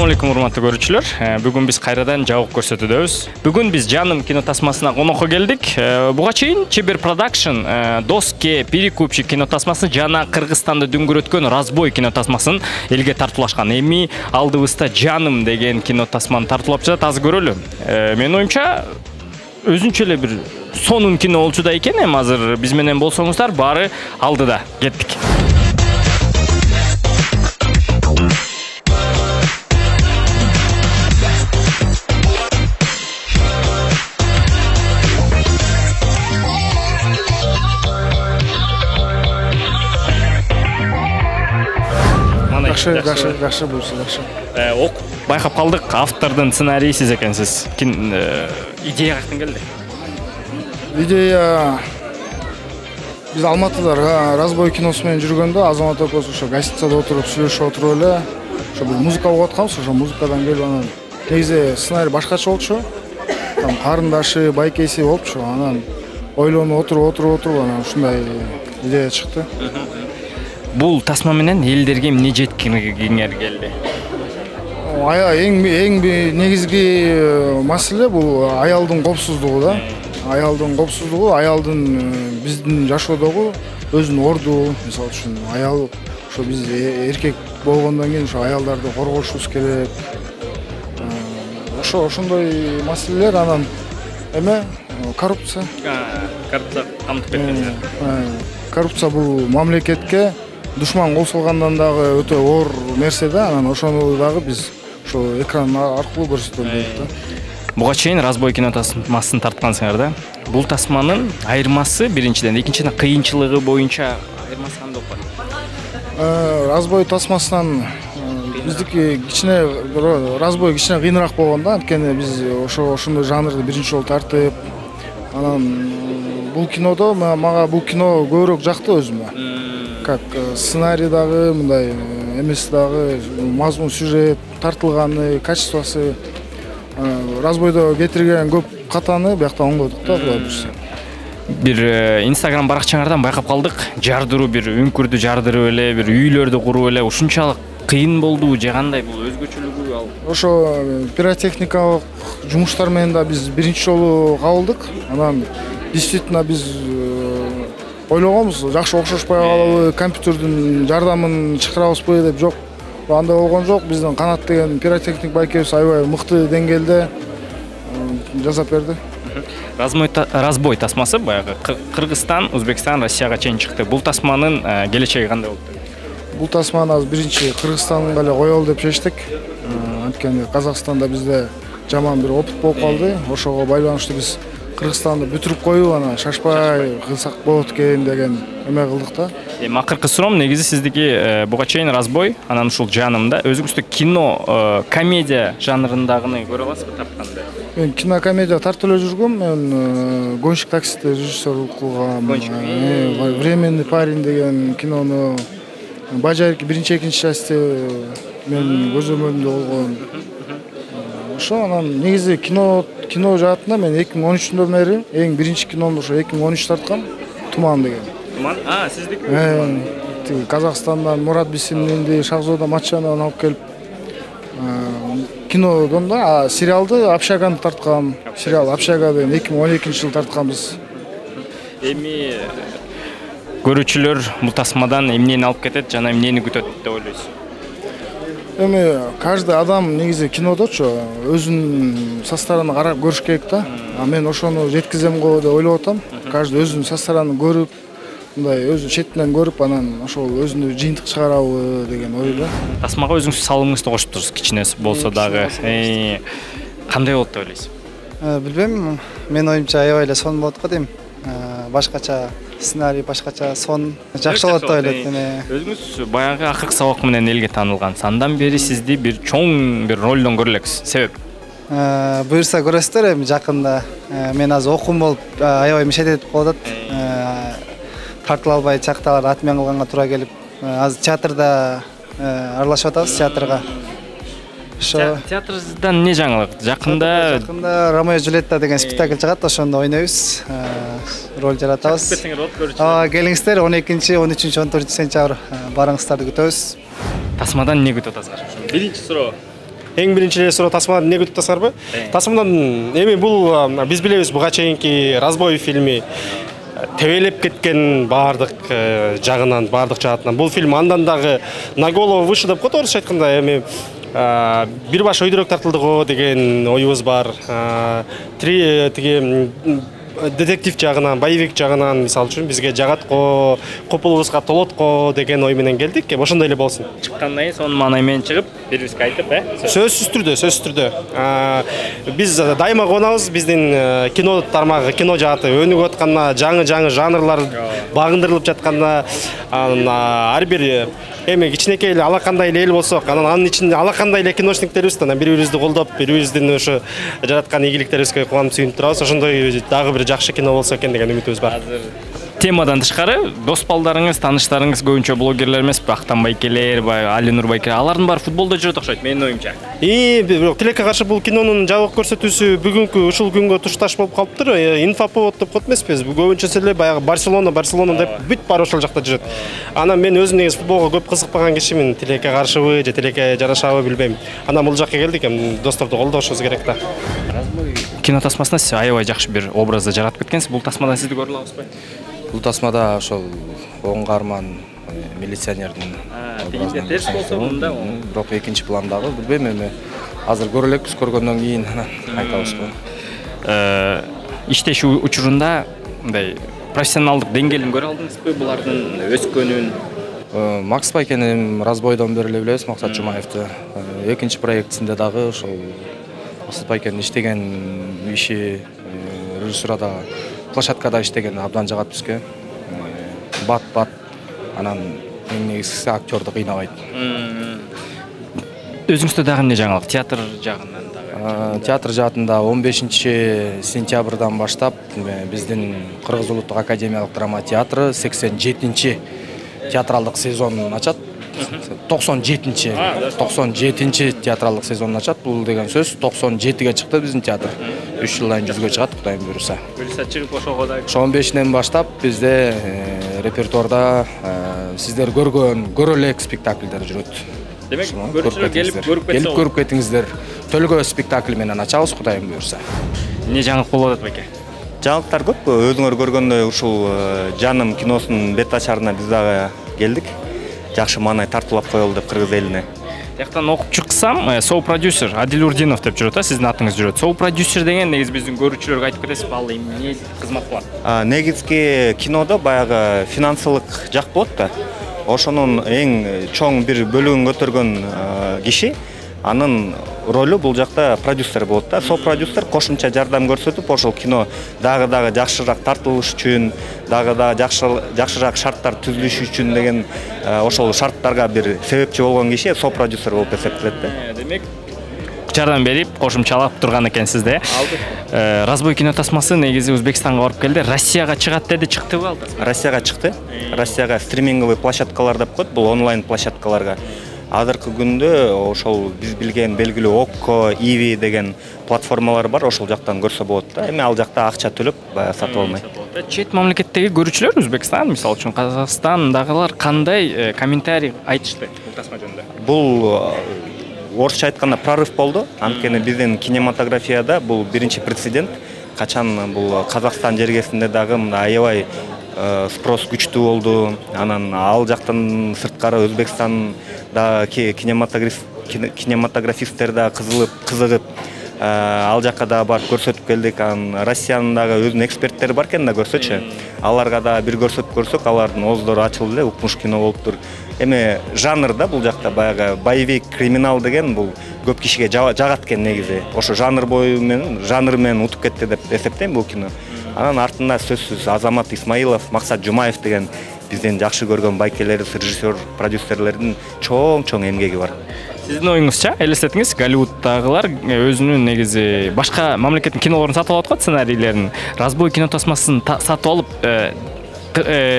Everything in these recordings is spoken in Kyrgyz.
Assalamu alaikum урматтуу көрүүчүлөр. Бүгүн биз кайрадан жабык көрсөтүүдөбүз. Бүгүн биз Жаным кино тасмасына конокко келдик. Буга чейин Чебер Production Доске Перекупщик кино тасмасын жана Кыргызстанды дүңгүрөткөн Разбой кино тасмасын элге тартуулашкан. Эми алдыбызда Жаным деген кино тасманы тартуулап жатат. Аз көрөлү. Менин оюмча өзүнчө эле бир сонун кино болчу да экен. Эми азыр биз менен болсоңуздар, баары алдыда. Кеттик. Жакшы буюрса жакшы. Байкап калдык, автордун сценарийи сиз экенсиз. Идея каяктан келди? Идея биз Алматыда Разбой киносу менен жүргөндө Азамат экөөбүз ошо гостиницада отуруп сүйлөшүп отуруп эле ошо бир музыка угуп атканбыз. Ошо музыкадан келип анан негизи сценарий башкача болчу. Там карындашы, байкеси болупчу. Анан ойлонуп отуруп анан ушундай идея чыкты. Бул тасма менен элдерге эмне жеткиргиңер келди? Эң негизги маселе бул аялдын коопсуздугу да. Аялдын коопсуздугу, аялдын биздин жашоодогу өзүнүн орду, мисалы үчүн аял ошо биз эркек болгондон кийин ошо аялдарды коргошубуз керек. Ошондой маселелер, анан эме коррупция. Коррупция камтып кеткен. Коррупция бул мамлекетке душман косулгандан дагы өтө оор нерсе да, анан ошону дагы биз ошо экран аркылуу көрсөтөлү дейт да. Буга чейин Разбой кино тасмасын тарткансыңар да. Бул тасманын айырмасы биринчиден, экинчиден кыйынчылыгы боюнча айырмасы кандай болуп калат? Разбой тасмасынан биздики кичине Разбой кичине кыйыныраак болгон да, анткени биз ошондой жанрды биринчи жолу тартып, анан бул кинодо мага бул кино көбүрөөк жакты өзүмө. Как сценарий дагы, мындай эмеси дагы, мазмун, сюжет, тартылганы, качествосы. Разбойдо кетирген көп катаны биякта оңдодук да, Кудай буйрса. Бир Instagram баракчаңардан байкап калдык. Жардыруу, бир үңкүрдү жардырып эле, бир үйлөрдү куруп эле, ушунчалык кыйын болдубу же кандай бул өзгөчөлүгү ал? Ошо пиротехникалык жумуштар менен да биз биринчи жолу кабылдык. Анан действительно биз ойлогонбуз, жакшы окшошпой калабы, компьютердин жардамын чакырабызбы деп. Жок, андай болгон жок. Биздин Канат деген пиротехник байкебиз аябай мыкты деңгээлде жасап берди. Разбой тасмасы баягы Кыргызстан, Өзбекстан, Россияга чейин чыкты. Бул тасманын келечеги кандай болду? Бул тасманы азыр биринчи Кыргызстанга эле коелу деп чечтик. Анткени Казакстанда бизде жаман бир опыт болуп калды. Ошого байланыштуу биз Кыргызстанды бүтүрүп коюп, анан шашпай кылсак болот экен деген эме кылдык да. Акыркы суроом негизи сиздики буга чейин Разбой, анан ушул Жанымда өзүңүздө кино, комедия жанрындагыны көрө аласызбы тартканды? Мен кинокомедия тартып эле жүргөм. Мен Гонщик таксиде режиссер кылгам. Временный парень деген кинону Бажайки биринчи, экинчи части мен көзөмөлүмдө болгон. Ошо анан негизи кино жаатында мен 2013-дөн бери эң биринчи киномду ошо 2013 тарткам, Туман деген. Туман? Сиздики? Казакстандан Мурат Бисиминди, Шахзода Матчанованы алып келип кинодон да, сериалды Общаганы тарткам. Сериал Общага деген 2012-жылы тартканбыз. Эми көрүүчүлөр бул тасмадан эмнени алып кетет жана эмнени күтөт деп ойлойсуз? Эми каждый адам негизи кинодочу өзүнүн составын карап көрүш керек да. Мен ошону жеткизем го деп ойлоп атам. Каждый өзүнүн составын көрүп, мындай өзү четинен көрүп, анан ошол өзүнүн жыйынтык чыгарабы деген ойдо. Тасмага өзүңүз салымыңызды кошуп турсуз, кичинеси болсо дагы. Кандай болот деп ойлойсуз? Билбейм, менин оюмча аябай эле сонун болот го дейм. Башкача сценарий, башкача сон жакшы болот деп ойлойт. Өзүңүз баягы акыркы сабак менен элге таанылгансыз. Андан бери сизди бир чоң бир ролдон көрө элексиз. Себеп? Буюрса көрөсүздөр эми жакында. Мен азыр окуум болуп аябай мешет этип калып атат. Тартыла албай чакталар атмен кылганга туура келип, азыр театрда аралашып атабыз, театрга. Театрдан не жаңылык? Жакында Ромео Джульетта деген спектакль чыгат, ошондо ойнойбуз. Роль жаратабыз. Келиңиздер 12-13, 14 сентябрь барыңыздарды күтөбүз. Тасмадан не күтүп атасыздар? Биринчи суроо. Эң биринчи эле суроо тасмадан эмне күтүп атасыңарбы? Тасмадан эми бул биз билебиз буга чейинки «Разбой» фильми тебелеп кеткен баардык жагынан, баардык жаатынан. Бул фильм андан дагы на голову выше деп коет, орусча айтканда. Эми бир баш өйдөрөк тартылды го деген оюбуз бар. Тиги детектив жагынан, боевик жагынан мисалы үчүн бизге жагат го, копулубузга толот го деген ой менен келдик. Ошондой эле болсун. Чыккандан кийин сонун маанай менен чыгып, бирибизге айтып, Сөзсүз түрдө. Биз дайыма кубанабыз, биздин кино тармагы, кино жааты өнүгүп атканына, жаңы жанрлар багындырылып жатканына, ар бир эми кичинекей эле алакандай эле эл болсок, анын ичинде алакандай эле киношниктерибиз, бири-бирибизди колдоп, бири-бирибиздин ошо жараткан ийгиликтерибизге кубанып сүйүнүп турабыз. Ошондой дагы бир жакшы кино болсо экен деген үмүтүбүз бар. Темадан тышкары, дос балдарыңыз, тааныштарыңыз көбүнчө блогерлер эмеспи? Актан Байкелер, Алинур Байкелер, алардын баары футболдо жүрөт окшойт, менин оюмча. Тилекке каршы бул кинонун жабык көрсөтүүсү бүгүнкү ушул күнгө тушташ болуп калыптыр. Инфоповод деп коет эмеспиз? Көбүнчөсү эле баягы Барселона деп бүт баары ошол жакта жүрөт. Анан мен өзүм негизи футболго көп кызыкпаган кишимин. Тилекке каршыбы же тилекке жарашабы билбейм. Анан бул жакка келдик, досторду колдошубуз керек да. Кино тасмасына сиз аябай жакшы бир образды жаратып кеткенсиз. Бул тасмадан сизди көрө алабызбы? Бул тасмада ошол оңгарман милиционердин терс болсо мында, бирок экинчи пландагы билбейм, эми азыр көрө элекпиз, көргөндөн кийин анан айтабыз го. Иштешүү учурунда мындай профессионалдык деңгээлин көрө алдыңызбы булардын өскөнүн? Макс Байкени Разбойдон бери эле билебиз, Максат Жумаевди. Экинчи проектисинде дагы ошол Макс Байкенин иштеген иши, режиссурада, площадкада иштеген абдан жагат бизге. Бат, анан эң негизгиси актёрду кыйнабайт. Өзүңүздө дагы эмне жаңылык? Театр жагынан дагы? Театр жаатында 15 сентябрдан баштап биздин Кыргыз Улуттук академиялык драма театры 87 театралдык сезонун ачат. 97 театралдык сезонун ачат. Бул деген сөз 97ге чыкты биздин театр. 3 жылдан 100ге чыгат, Кудайым буйруса. Чыгып ошого да 15-ден баштап бизде репертуарда сиздер көрө элек спектакльдер жүрөт. Демек, көрүүчүлөр келип көрүп кетиңиздер. Төлгө спектакль менен ачабыз, Кудайым буйруса. Эмне жаңылык болуп атат байке? Жаңылыктар көп. Өзүңөр көргөндөй ушул Жаным киносунун бет ачарына биз дагы келдик. Жакшы маанай тартуулап коелу деп кыргыз элине. Жактан окуп чыксам, соу-продюсер Адил Урдинов деп жүрөт, сиздин атыңыз жүрөт. Соу-продюсер деген негизи биздин көрүүчүлөргө айтып кетесизби, ал эмне кызмат кылат? Негизги кинодо баягы финансылык жак болот да. Ошонун эң чоң бир бөлүгүн көтөргөн киши, анын ролу бул жакта продюсер болот да. Соу-продюсер кошумча жардам көрсөтүп, ошол кино дагы жакшыраак тартылыш үчүн, дагы жакшыраак шарттар түзүлүш үчүн деген ошол шарттарга бир себепчи болгон киши соу-продюсер болуп эсептелет да. Демек, жардам берип, кошумчалап турган экенсиз да. Разбой кино тасмасы негизи Өзбекстанга барып келди. Россияга чыгат деди, чыктыбы ал тасма? Россияга чыкты. Россияга стриминговый площадкалар деп коет, бул онлайн площадкаларга. Азыркы күндө ошол биз билген белгилүү Окко, Иви деген платформалар бар, ошол жактан көрсө болот да. Эми ал жакта акча төлөп сатып алмайт. Чет мамлекеттеги көрүүчүлөр, Өзбекстан, мисалы үчүн Казакстандагылар кандай комментарий айтышты бул тасма жөнүндө? Бул орусча айтканда прорыв болду. Анткени биздин кинематографияда бул биринчи прецедент. Качан бул Казакстан жергесинде дагы мындай аябай спрос күчтүү болду. Анан ал жактан сырткары Өзбекстанда кинематографисттер да кызыгып ал жакка да барып көрсөтүп келдик. Анан Россиянын дагы өзүнүн эксперттери бар экен да, көрсөчү. Аларга да бир көрсөтүп көрсөк, алардын ооздору ачылып эле укмуш кино болуптур. Эми жанр да бул жакта баягы боевик, криминал деген бул көп кишиге жагат экен негизи. Ошо жанр менен утуп кетти деп эсептейм бул кино. Анан артында сөзсүз Азамат Исмаилов, Максат Жумаев деген биздин жакшы көргөн байкелерибиз, режиссер, продюсерлердин чоң эмгеги бар. Сиздин оюңузча, элестетиңиз, Голливуддагылар өзүнүн негизи башка мамлекеттин кинолорун сатып алып аткан сценарийлерин, Разбой кино тасмасын сатып алып,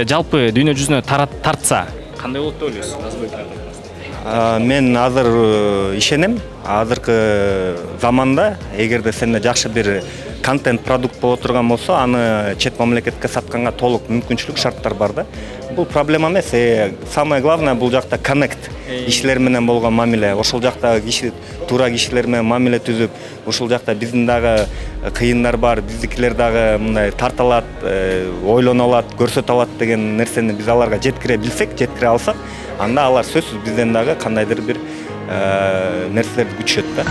жалпы дүйнө жүзүнө тартса, кандай болот деп ойлойсуз? Разбой кино тасмасы. Мен азыр ишенем, азыркы заманда эгерде сенде жакшы бир контент продукт боло турган болсо аны чет мамлекетке сатканга толук мүмкүнчүлүк шарттар бар да. Бул проблема эмес. Самое главное бул жакта коннект, кишилер менен болгон мамиле. Ошол жакта киши туура кишилер менен мамиле түзүп, ушул жакта биздин дагы кыйындар бар, биздикилер дагы мындай тарта алат, ойлоно алат, көрсөтө алат деген нерсени биз аларга жеткире билсек, жеткире алсак, анда алар сөзсүз бизден дагы кандайдыр бир нерселерди күтүшөт да.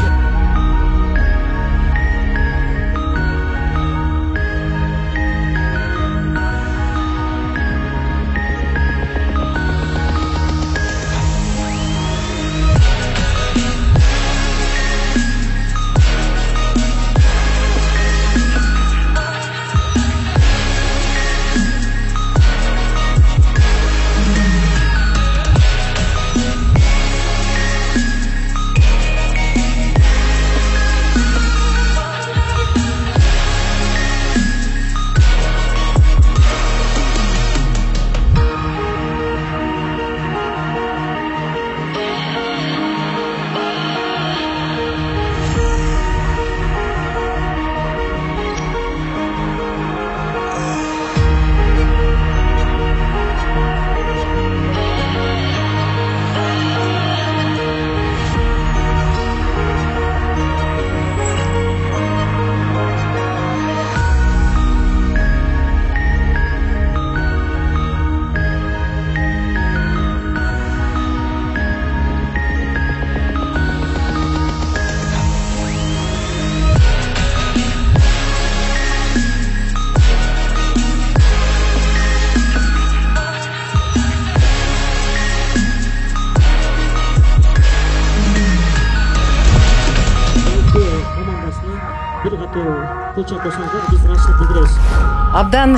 Абдан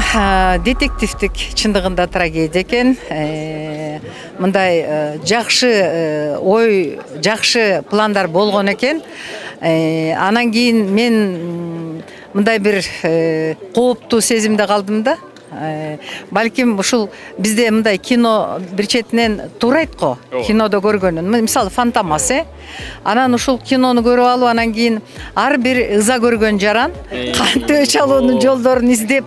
детективдик чындыгында трагедия экен. Мындай жакшы ой, жакшы пландар болгон экен. Анан кийин мен мындай бир кооптуу сезимде калдым да. Балким ушул бизде мындай кино бир четинен туурайт го. Кинодо көргөнүн. Мисалы Фантомас, анан ушул кинону көрүп алып, анан кийин ар бир ыза көргөн жаран кантип өч алуунун жолдорун издеп,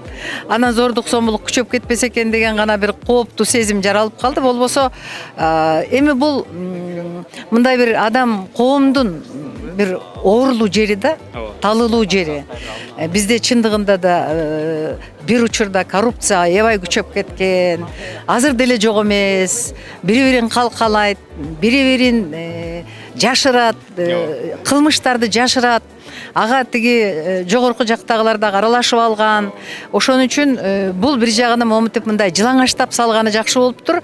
анан зордук зомбулук күчөп кетпесе экен деген гана бир кооптуу сезим жаралып калды. Болбосо эми бул мындай бир адам коомдун бир оорулуу жери да, талылуу жери. Бизде чындыгында да бир учурда коррупция аябай күчөп кеткен. Азыр деле жок эмес. Бири-бирин калкалайт, бири-бирин жашырат, кылмыштарды жашырат. Ага тиги жогорку жактагылар да аралашып алган. Ошон үчүн бул бир жагынан момунтип мындай жылаңаштап салганы жакшы болуптур.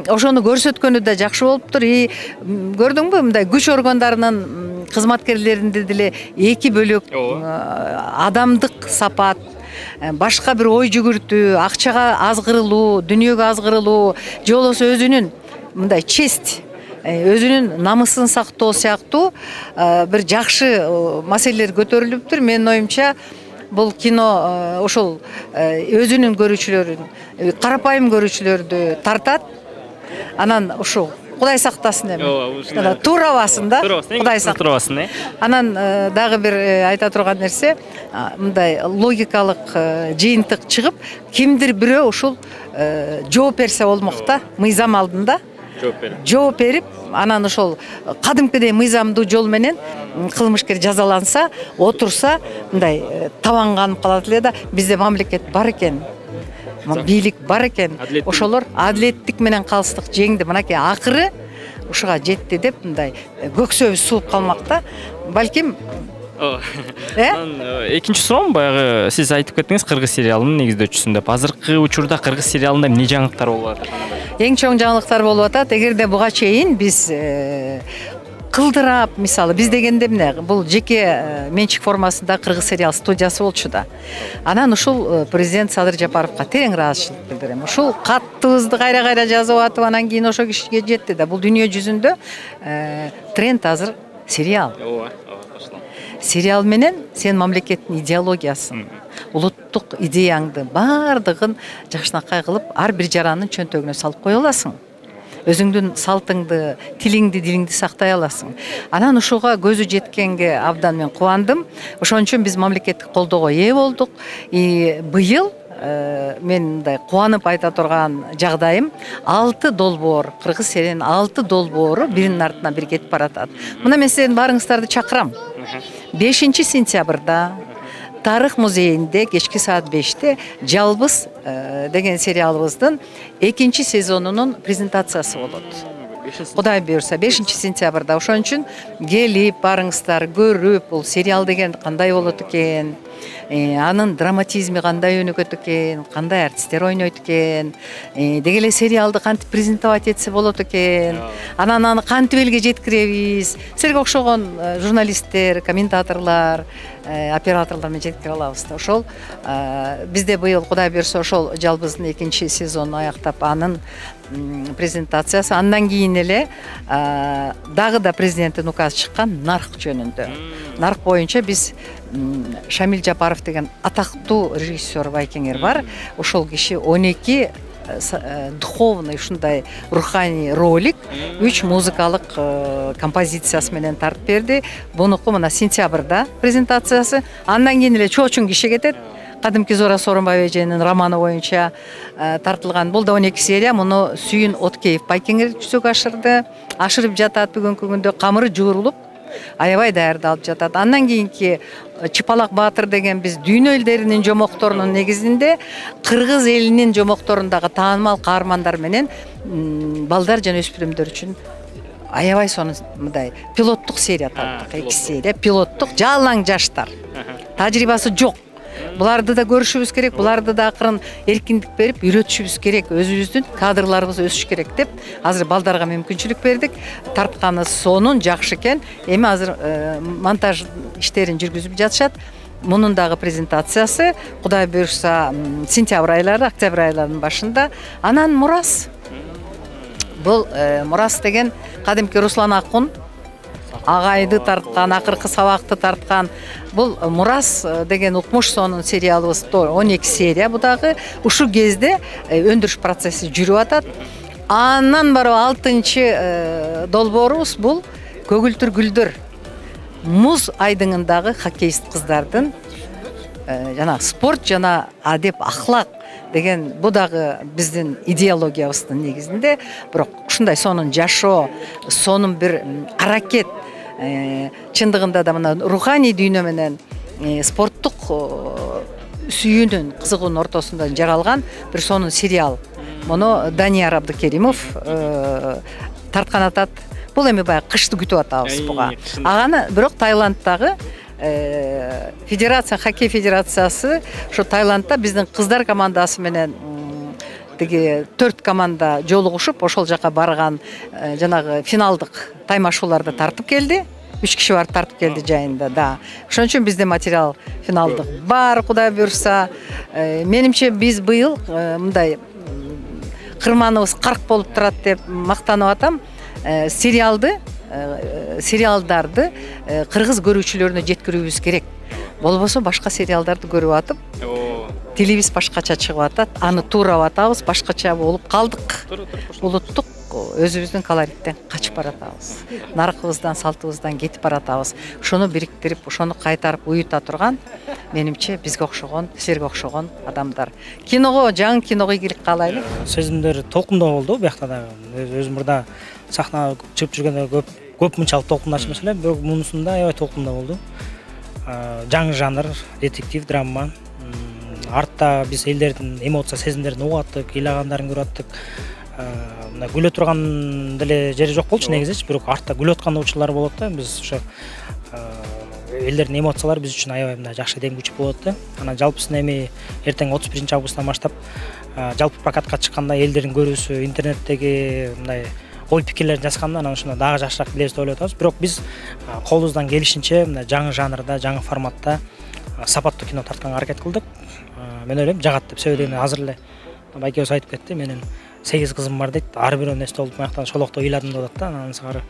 Ошону көрсөткөнү да жакшы болуптур. Көрдүңбү, мындай күч органдарынын кызматкерлеринде деле эки бөлөк адамдык сапат, башка бир ой жүгүртүү, акчага азгырылуу, дүнүйөгө азгырылуу, же болбосо өзүнүн мындай честь, өзүнүн намысын сактоо сыяктуу бир жакшы маселелер көтөрүлүптүр. Менин оюмча бул кино ошол өзүнүн көрүүчүлөрүн, карапайым көрүүчүлөрдү тартат. Анан ушул Кудай сактасын эми. Туурабасын да. Кудай сактасын. Анан дагы бир айта турган нерсе, мындай логикалык жыйынтык чыгып, кимдир бирөө ушул жооп берсе болмок да, мыйзам алдында. Жооп берип, анан ошол кадимкидей мыйзамдуу жол менен кылмышкер жазаланса, отурса, мындай табанганып калат эле да. Бизде мамлекет бар экен. Бийлик бар экен. Ошолор адилеттик менен калыстык жеңди. Мынакей акыры ушуга жетти деп мындай көксөбүз сууп калмак да. Балким экинчи суроом, баягы сиз айтып кеттиңиз кыргыз сериалынын негиздөөчүсүн деп. Азыркы учурда кыргыз сериалында эмне жаңылыктар болуп атат? Эң чоң жаңылыктар болуп атат. Эгерде буга чейин биз кылдырап, мисалы биз дегенде эмне, бул жеке менчик формасында кыргыз сериал студиясы болчу да. Анан ушул президент Садыр Жапаровго терең ыраазычылык билдирем. Ушул каттыбызды кайра-кайра жазып атып, анан кийин ошо кишиге жетти да. Бул дүйнө жүзүндө тренд азыр сериал. Сериал менен сен мамлекеттин идеологиясын, улуттук идеяңды бардыгын жакшынакай кылып, ар бир жарандын чөнтөгүнө салып кое аласың. өзүңдүн салтыңды, тилиңди, дилиңди сактай аласың. Анан ушуга көзү жеткенге абдан мен кубандым. Ошон үчүн биз мамлекеттик колдоого ээ болдук. Быйыл мен мындай кубанып айта турган жагдайым 6 долбоор, кыргыз сериянын 6 долбоору биринин артынан бири кетип баратат. Мына мен силердин баарыңыздарды чакырам. 5 сентябрда Тарых музейинде кечки саат 5-те Жалбыз деген сериалыбыздын 2 сезонунун презентациясы болот. Кудай буйрса 5 сентябрда. Ошон үчүн келип барыңыздар, көрүп, бул сериал деген кандай болот экен, анын драматизми кандай өнүгөт экен, кандай артисттер ойнойт экен, деги эле сериалды кантип презентовать этсе болот экен, анан аны кантип элге жеткиребиз, силерге окшогон журналисттер, комментаторлор, операторлор менен жеткире алабыз да. Ошол бизде быйыл Кудай буйрса ошол Жалбыздын 2 сезонун аяктап анын презентациясы, андан кийин эле дагы да президенттин указы чыккан нарк жөнүндө. Нарк боюнча биз Шамил Жапаров деген атактуу режиссер байкеңер бар. Ошол киши 12 духовный ушундай руханий ролик 3 музыкалык композициясы менен тартып берди. Бунуку мына сентябрда презентациясы. Андан кийин эле чоочун киши кетет. Кадимки Зора Сооронбай эженин романы боюнча тартылган. Бул да 12 серия. Муну Сүйүн Откеев байкеңер жүзөгө ашырды. Ашырып жатат бүгүнкү күндө, камыры жуурулуп, аябай даярдалып жатат. Андан кийинки Чыпалак Баатыр деген биз дүйнө элдеринин жомокторунун негизинде кыргыз элинин жомокторундагы таанымал каармандар менен балдар жана өспүрүмдөр үчүн аябай сонун мындай пилоттук серия тарттык. 2 серия пилоттук, жалаң жаштар. Тажрыйбасы жок. Буларды да көрүшүбүз керек, буларды да акырын эркиндик берип үйрөтүшүбүз керек, өзүбүздүн кадрларыбыз өсүш керек деп азыр балдарга мүмкүнчүлүк бердик. Тартканы сонун жакшы экен. Эми азыр монтаж иштерин жүргүзүп жатышат. Мунун дагы презентациясы Кудай буйрса сентябрь айлары, октябрь айларынын башында. Анан Мурас. Бул Мурас деген кадимки Руслан Акун агайды тарткан, акыркы сабакты тарткан. Бул Мурас деген укмуш сонун сериалыбыз 12 серия. Бу дагы ушул кезде өндүрүш процесси жүрүп атат. Андан барып 6 долбоорубуз бул Көгүлтүр гүлдөр. Муз айдыңындагы хоккеист кыздардын жана спорт жана адеп ахлак деген бу дагы биздин идеологиябыздын негизинде, бирок ушундай сонун жашоо, сонун бир аракет, чындыгында да мына руханий дүйнө менен спорттук сүйүүнүн, кызыгуунун ортосунда жаралган бир сонун сериал. Муну Данияр Абдыкеримов тарткан атат. Бул эми баягы кышты күтүп атабыз буга. Аганы бирок Таиланддагы федерация, хоккей федерациясы ошо Таиландда биздин кыздар командасы менен тиги 4 команда жолугушуп ошол жака барган жанагы финалдык таймашууларды тартып келди. 3 киши барып тартып келди жайында да. Ошон үчүн бизде материал финалдык бар, Кудай буйрса. Менимче биз быйыл мындай кырманыбыз карк болуп турат деп мактанып атам. Сериалдарды кыргыз көрүүчүлөрүнө жеткирүүбүз керек. Болбосо башка сериалдарды көрүп атып, тилибиз башкача чыгып атат, аны туурап атабыз, башкача болуп калдык. Улуттук өзүбүздүн колориттен качып баратабыз. Наркыбыздан, салтыбыздан кетип баратабыз. Ошону бириктирип, ошону кайтарып уюта турган менимче бизге окшогон, силерге окшогон адамдар. Киного, жаңы киного ийгилик каалайлы. Сезимдер толкундоо болду буякта дагы. Өзүм мурда сахнага чыгып жүргөндө көп мынчалык толкундачу эмес эле, бирок мунусунда аябай толкундоо болду. Жаңы жанр, детектив, драма. Артта биз элдердин эмоция, сезимдерин угуп аттык, ыйлагандарын көрүп аттык. Мына күлө турган деле жери жок болчу негизичи, бирок артта күлүп аткан учурлар болот да. Биз ошо элдердин эмоциялары биз үчүн аябай мындай жакшы демгүч болот да. Анан жалпысын эми эртең 31 августтан баштап жалпы прокатка чыкканда элдердин көрүүсү, интернеттеги мындай ой пикирлерин жазганда анан ушуна дагы жакшыраак билебиз деп ойлоп атабыз. Бирок биз колубуздан келишинче мындай жаңы жанрда, жаңы форматта сапаттуу кино тартканга аракет кылдык. Мен ойлойм жагат деп, себеби азыр эле байкебиз айтып кетти, менин 8 кызым бар дейт. Ар бирөө несте болуп маяктан шолокто ыйладым деп атат да. Анан сыгары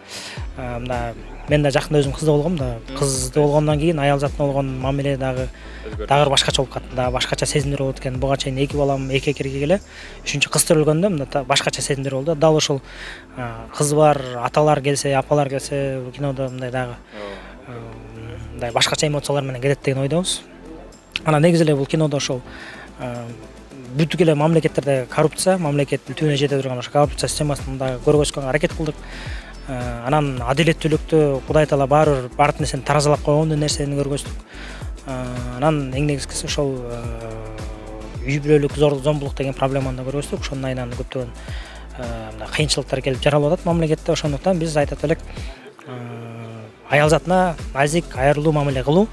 мында мен да жакында өзүм кызды болгом да. Кызды болгондон кийин аял затына болгон мамиле дагы башкача болуп калды. Дагы башкача сезимдер болот экен. Буга чейин 2 балам эки экирге эле 3-үчү кыз төрөлгөндө мында башкача сезимдер болду. Дал ошол кызы бар аталар келсе, апалар келсе, кинодо мындай дагы мындай башкача эмоциялар менен кетет деген ойдобуз. Анан негизи эле бул кинодо ошол бүт эле мамлекеттерде коррупция, мамлекеттин түбүнө жете турган ошо коррупция системасын дагы көргөзгөнгө аракет кылдык. Анан адилеттүүлүктү Кудай таала баары нерсени таразалап койгон нерсени көргөздүк. Анан эң негизгиси ошол үй бүлөлүк зомбулук деген проблеманы да көргөздүк. Ошонун айынан көптөгөн кыйынчылыктар келип жаралып атат мамлекетте. Ошондуктан биз айтат элек аял затына назик, айырылуу мамиле кылуу,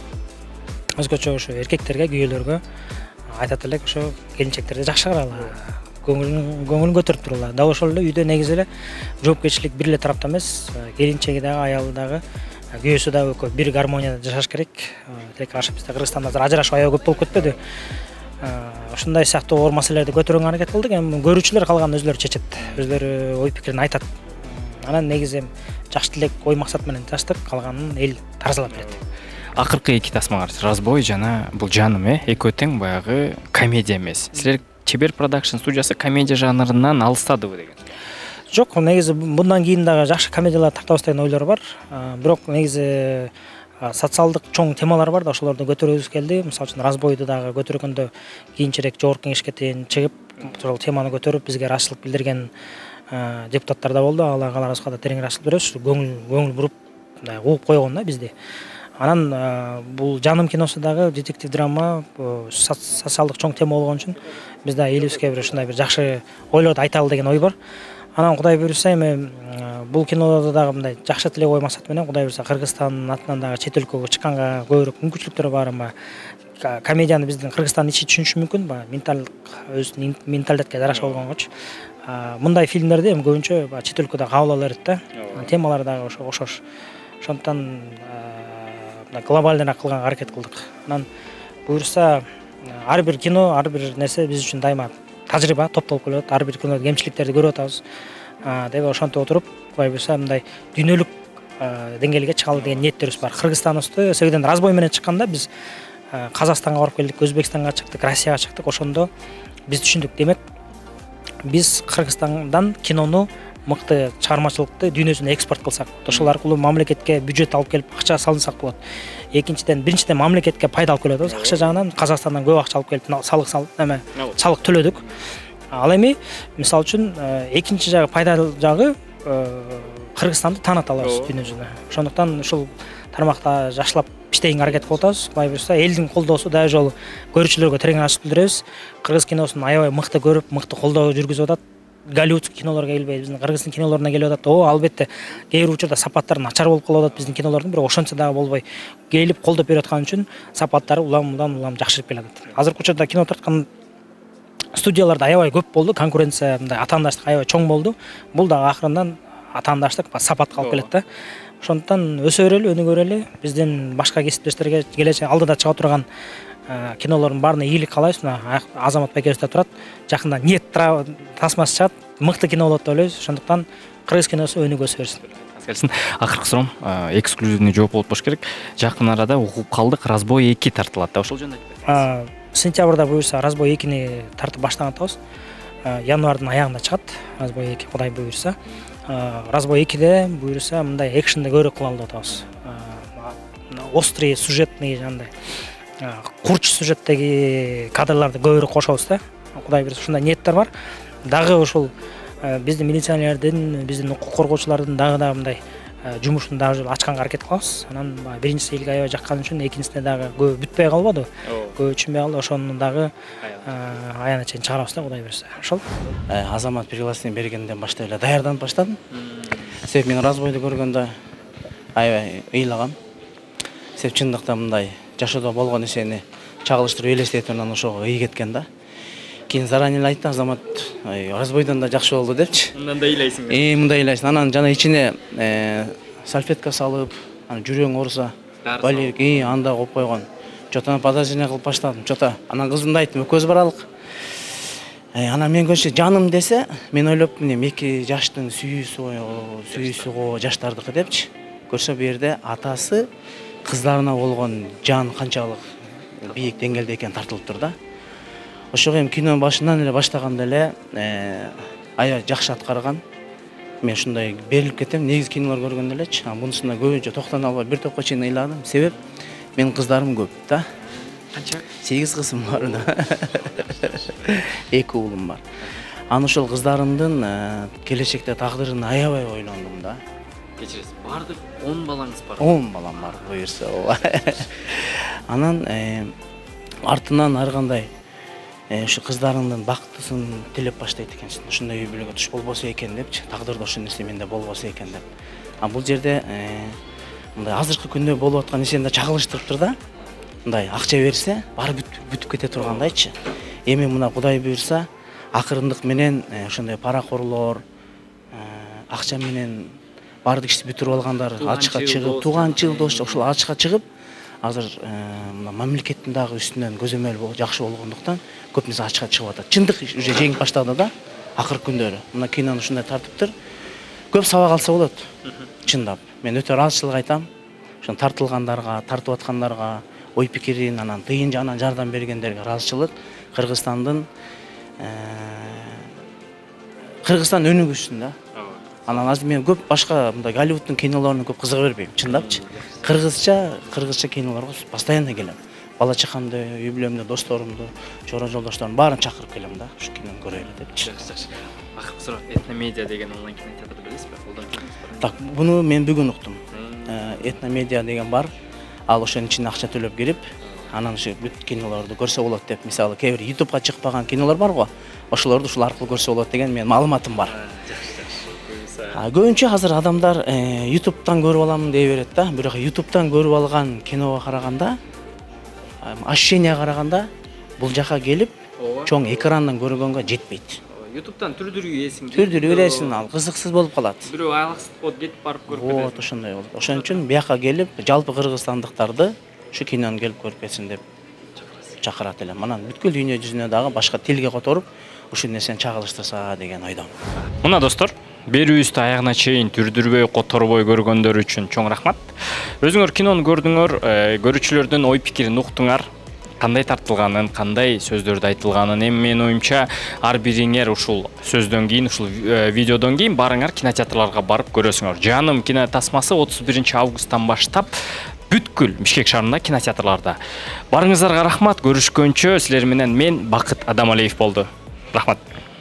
өзгөчө ошо эркектерге, күйөөлөргө айтат элек ошо келинчектерди жакшы карагыла, көңүлүн көтөрүп тургула. Дал ошол эле үйдө негизи эле жоопкерчилик бир эле тарапта эмес, келинчеги дагы, аялы дагы, күйөөсү дагы экөө бир гармонияда жашаш керек. Тилекке каршы бизде Кыргызстанда азыр ажырашуу аябай көп болуп кетпеди. Ушундай сыяктуу оор маселелерди көтөргөнгө аракет кылдык. Эми көрүүчүлөр калганын өзлөрү чечет, өзлөрү ой пикирин айтат. Анан негизи жакшы тилек, ой максат менен жаштык, калганын эл таразалап берет. Акыркы эки тасмаңар Разбой жана бул жаным экөө тең баягы комедия эмес. Силер Чебер продакшн студиясы комедия жанрынан алыстадыбы деген? Жок, негизи мындан кийин дагы жакшы комедиялар тартабыз деген ойлор бар. Бирок негизи социалдык чоң темалар бар да, ошолорду көтөргүбүз келди. Мисалы үчүн Разбойду дагы көтөргөндө кийинчерээк жогорку кеңешке чыгып, ошол теманы көтөрүп бизге ырашчылык билдирген депутаттар да болду. Алла кааласа да терең ырашчылык беребиз. Көңүл буруп угуп койгон да бизди. Анан бул жаным киносу дагы детектив драма, социалдык чоң тема болгон үчүн биз да элибизге бир ушундай бир жакшы ойлорду айталы деген ой бар. Анан Кудай буйруса эми бул кинодо дагы мындай жакшы тилек ой максат менен Кудай буйруса Кыргызстандын атынан дагы чет өлкөгө чыкканга көбүрөөк мүмкүнчүлүктөр бар. Комедияны биздин Кыргызстандын ичи түшүнүшү мүмкүн, өзүнүн менталитетке жараша болгонгочу. Мындай фильмдерди эми көбүнчө чет өлкөдө кабыл ала берет да. Темалары дагы окшош. Ошондуктан глобальныйраак кылганга аракет кылдык. Анан буйруса ар бир кино, ар бир нерсе биз үчүн дайыма тажрыйба, топтолуп келет. Ар бир кинодо кемчиликтерди көрүп атабыз. Деп ошентип отуруп, Кудай буйруса мындай дүйнөлүк деңгээлге чыгалы деген ниеттерибиз бар. Кыргызстаныбызды себебен Разбой менен чыкканда биз Казакстанга барып келдик, Өзбекстанга чыктык, Россияга чыктык. Ошондо биз түшүндүк, демек биз Кыргызстандан кинону мыкты чыгармачылыкты дүйнөсүнө экспорт кылсак, ошол аркылуу мамлекетке бюджет алып келип акча салынсак болот. Экинчиден, биринчиден мамлекетке пайда алып келебиз. Акча жагынан Казакстандан көп акча алып келип салык төлөдүк. Ал эми мисалы үчүн экинчи жагы пайда жагы Кыргызстанды таанат алабыз дүйнөсүнө. Ошондуктан ушул тармакта жакшылап иштегенге аракет кылып атабыз. Кудай буйруса элдин колдоосу дагы жолу көрүүчүлөргө терең ырашчылык билдиребиз. Кыргыз киносун аябай мыкты көрүп, мыкты колдоо жүргүзүп атат. Голливудский кинолорго келбей, биздин Кыргыздын кинолоруна келип атат. Албетте, кээ бир учурда сапаттары начар болуп калып атат биздин кинолордун, бирок ошончо дагы болбой келип колдоп берип аткан үчүн сапаттары улам жакшырып келатат. Азыркы учурда кино тарткан студияларда аябай көп болду, конкуренция, мындай атаандаштык аябай чоң болду. Бул дагы акырындан атаандаштык сапатка алып келет да. Ошондуктан өсө берели, өнүгө берели. Биздин башка кесиптештерге келечек алдыда чыга турган кинолордун баарына ийгилик каалайбыз. Азамат байкебиз да турат. Жакында Нет тасмасы чыгат, мыкты кино болот деп ойлойбуз. Ошондуктан кыргыз киносу өнүгө өсө берсин. Акыркы суроом эксклюзивный жооп болуп болуш керек. Жакын арада угуп калдык, Разбой 2 тартылат да, ошол жөнүндө айтып. Сентябрда буюрса Разбой 2-ни тартып баштаган атабыз. Январдын аягында чыгат Разбой 2, Кудай буйруса. Разбой 2де буйруса мындай экшенди көбүрөөк кылалы деп атабыз. Острый сюжетный жандай курч сюжеттеги кадрларды көбүрөөк кошобуз да. Кудай буйруса ушундай ниеттер бар. Дагы ушул биздин милиционерлердин, биздин укук коргоочулардын дагы мындай жумушун дагы ачканга аракет кылабыз. Анан биринчиси элге аябай жаккан үчүн экинчисине дагы көп бүтпөй калбады. Көп түшүнбөй калды. Ошону дагы аягына чейин чыгарабыз да, Кудай буйруса. Ошол. Азамат приглашение бергенден баштап эле даярданып баштадым. Себеп мен Разбойду көргөндө аябай ыйлагам. Себеп чындыкта мындай жашоодо болгон нерсени чагылыштырып элестетип анан ошого ый кеткен да. Кийин заранее айтты Азамат, Разбойдон да жакшы болду депчи. Мындан да ыйлайсың. Мындай ыйлайсың. Анан жана ичине сальфетка салып, анан жүрөң ооруса, балик, анда коюп койгон. Чотон подозрение кылып баштадым. Чото. Анан кызымды айттым, экөөбүз баралык. Анан мен көбүнчө жаным десе, мен ойлоп мына 2 жаштын сүйүүсү го жаштардыкы депчи. Көрсө бу жерде атасы кыздарына болгон жан канчалык бийик деңгээлде экен тартылып тур да. Ошого эми кино башынан эле баштаганда эле аябай жакшы аткарган. Мен ушундай берилип кетем, негизи кинолор көргөндө элечи. Бунусунда көбүнчө токтоно албай бир топко чейин ыйладым. Себеп менин кыздарым көп да. Канча? 8 кызым бар да. 2 уулум бар. Анан ошол кыздарымдын келечекте тагдырын аябай ойлондум да. Кечиресиз. Бардык 10 балаңыз бар. 10 балам бар, буюрса. Анан артынан ар кандай ушу кыздарымдын бактысын тилеп баштайт экенсиң. Ушундай үй бүлөгө туш болбосо экен депчи. Тагдырда ошол нерсе менде болбосо экен деп. Бул жерде мындай азыркы күндө болуп аткан нерсени да чагылыштырыптыр да. Мындай акча берсе, баары бүтүп кете тургандайчы. Эми мына Кудай буйрса, акырындык менен ошондой паракорлор, акча менен баардык ишти бүтүрүп алгандар ачыкка чыгып, тууганчыл дос ошол ачыкка чыгып, азыр мына мамлекеттин дагы үстүнөн көзөмөл жакшы болгондуктан көп нерсе ачыкка чыгып атат. Чындык уже жеңип баштады да, акыркы күндөрү. Мына кинону ушундай тартыптыр. Көп сабак алса болот. Чындап. Мен өтө ыраазычылык айтам. Ошон тартылгандарга, тартып аткандарга, ой пикирин, анан тыйын жагынан жардам бергендерге ыраазычылык. Кыргызстан өнүгүшсүн да. Анан азыр мен көп башка мындай Голливудтун кинолоруна көп кызыга бербейм, чындапчы. Кыргызча кинолорго постоянно келем. Бала чакамды, үй бүлөмдү, досторумду, чора жолдошторумду баарын чакырып келем да, ушу кинону көрөлү депчи. Жакшы. Акыркы суроо, Этномедиа деген онлайн кинотеатрды билесизби? Колдонуп жүрсүңүзбү? Так, буну мен бүгүн уктум. Этномедиа деген бар. Ал ошонун ичине акча төлөп кирип, анан ушу бүт кинолорду көрсө болот деп, мисалы, кээ бир YouTubeга чыкпаган кинолор бар го. Ошолорду ушул аркылуу көрсө болот деген менин маалыматым бар. Көбүнчө азыр адамдар YouTube'тан көрүп аламын дей берет да. Бирок YouTube'тан көрүп алган киного караганда, ощущенияга караганда бул жака келип, чоң экрандан көргөнгө жетпейт. YouTube'тан түрдүрүү ийесиң. Түрдүрүү бересиң, ал кызыксыз болуп калат. Бирөө аялаксыз болуп кетип барып көрүп кетет. Вот, ошондой болот. Ошон үчүн бияка келип, жалпы кыргызстандыктарды ушу кинону келип көрүп кетсин деп чакырат элем. Анан бүткүл дүйнө жүзүнө дагы башка тилге которуп, ушул нерсени чагылыштырса деген ойдомун. Мына достор, берүүбүздү аягына чейин түрдүрбөй, которбой көргөндөр үчүн чоң рахмат. Өзүңөр кинону көрдүңөр, көрүүчүлөрдүн ой пикирин уктуңар. Кандай тартылганын, кандай сөздөрдү айтылганын, эми менин оюмча ар бириңер ушул сөздөн кийин, ушул видеодон кийин барыңар кинотеатрларга барып көрөсүңөр. Жаным кино тасмасы 31 августтан баштап бүткүл Бишкек шаарында кинотеатрларда. Барыңыздарга рахмат. Көрүшкөнчө силер менен мен Бакыт Адамалиев болду. Рахмат.